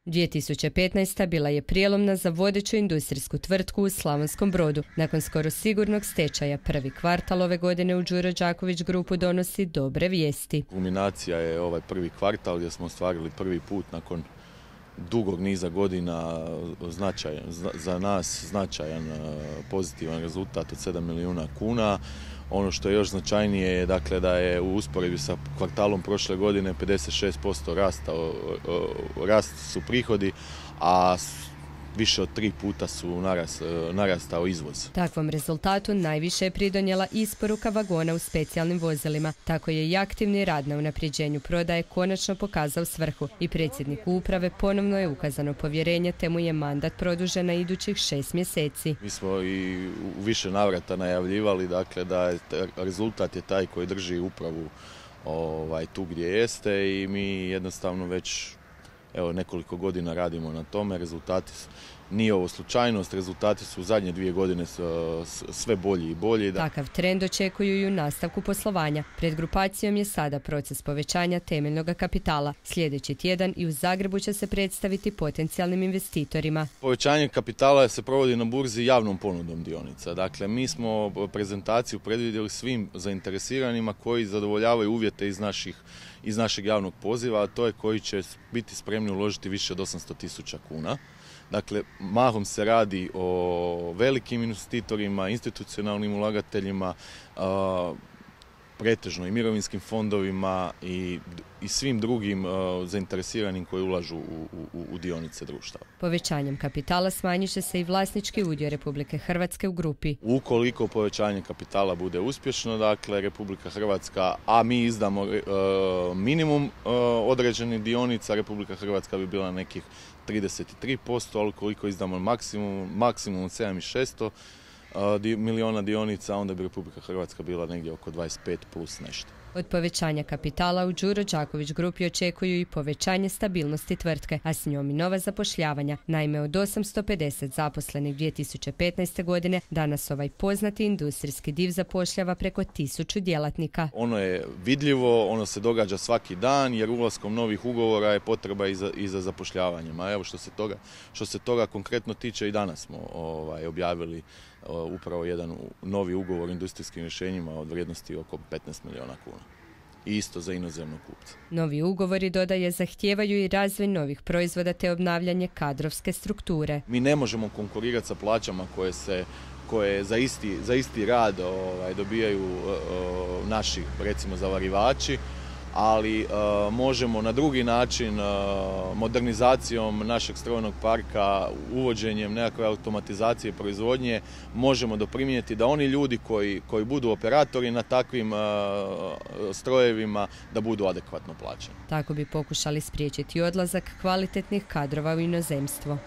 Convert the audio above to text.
2015. bila je prijelomna za vodeću industrijsku tvrtku u Slavonskom Brodu. Nakon skoro sigurnog stečaja, prvi kvartal ove godine u Đuro Đaković grupu donosi dobre vijesti. Kulminacija je ovaj prvi kvartal gdje smo ostvarili prvi put nakon dugog niza godina za nas značajan pozitivan rezultat od 7 milijuna kuna. Ono što je još značajnije je dakle, da je u usporedbi sa kvartalom prošle godine 56% rast su prihodi, a više od 3 puta su narastao izvoz. Takvom rezultatu najviše je pridonijela isporuka vagona u specijalnim vozilima. Tako je i aktivni rad na unapređenju prodaje konačno pokazao svrhu i predsjedniku uprave ponovno je ukazano povjerenje te mu je mandat produžen na idućih 6 mjeseci. Mi smo i u više navrata najavljivali dakle, da je rezultat je taj koji drži upravu tu gdje jeste i mi jednostavno već nekoliko godina radimo na tome. Rezultati nije ovo slučajnost, rezultati su u zadnje 2 godine sve bolji i bolji. Takav trend očekuju i u nastavku poslovanja. Pred grupacijom je sada proces povećanja temeljnog kapitala. Sljedeći tjedan i u Zagrebu će se predstaviti potencijalnim investitorima. Povećanje kapitala se provodi na burzi javnom ponudom dionica. Dakle, mi smo prezentaciju predvidjeli svim zainteresiranima koji zadovoljavaju uvjete iz našeg javnog poziva, a to je koji će biti spremni uložiti više od 800.000 kuna. Dakle, mahom se radi o velikim investitorima, institucionalnim ulagateljima, pretežno i mirovinskim fondovima i svim drugim zainteresiranim koji ulažu u dionice društava. Povećanjem kapitala smanjit će se i vlasnički udio Republike Hrvatske u grupi. Ukoliko povećanje kapitala bude uspješno, dakle Republika Hrvatska, a mi izdamo minimum određenih dionica, Republika Hrvatska bi bila nekih 33%, ali ukoliko izdamo maksimum 7.600 milijuna dionica, onda bi Republika Hrvatska bila negdje oko 25 plus nešto. Od povećanja kapitala u Đuro Đaković grupi očekuju i povećanje stabilnosti tvrtke, a s njom i nova zapošljavanja. Naime, od 850 zaposlenih 2015. godine, danas ovaj poznati industrijski div zapošljava preko 1000 djelatnika. Ono je vidljivo, ono se događa svaki dan, jer ulaskom novih ugovora je potreba i za zapošljavanjem. A evo što se toga konkretno tiče, i danas smo objavili upravo jedan novi ugovor o industrijskim rješenjima od vrijednosti oko 15 milijuna kuna. I isto za inozemnog kupca. Novi ugovori, dodaje, zahtijevaju i razvoj novih proizvoda te obnavljanje kadrovske strukture. Mi ne možemo konkurirati sa plaćama koje za isti rad dobijaju naši, recimo, zavarivači, ali možemo na drugi način, modernizacijom našeg strojnog parka, uvođenjem nekakve automatizacije proizvodnje, možemo doprinijeti da oni ljudi koji budu operatori na takvim strojevima da budu adekvatno plaćeni. Tako bi pokušali spriječiti odlazak kvalitetnih kadrova u inozemstvo.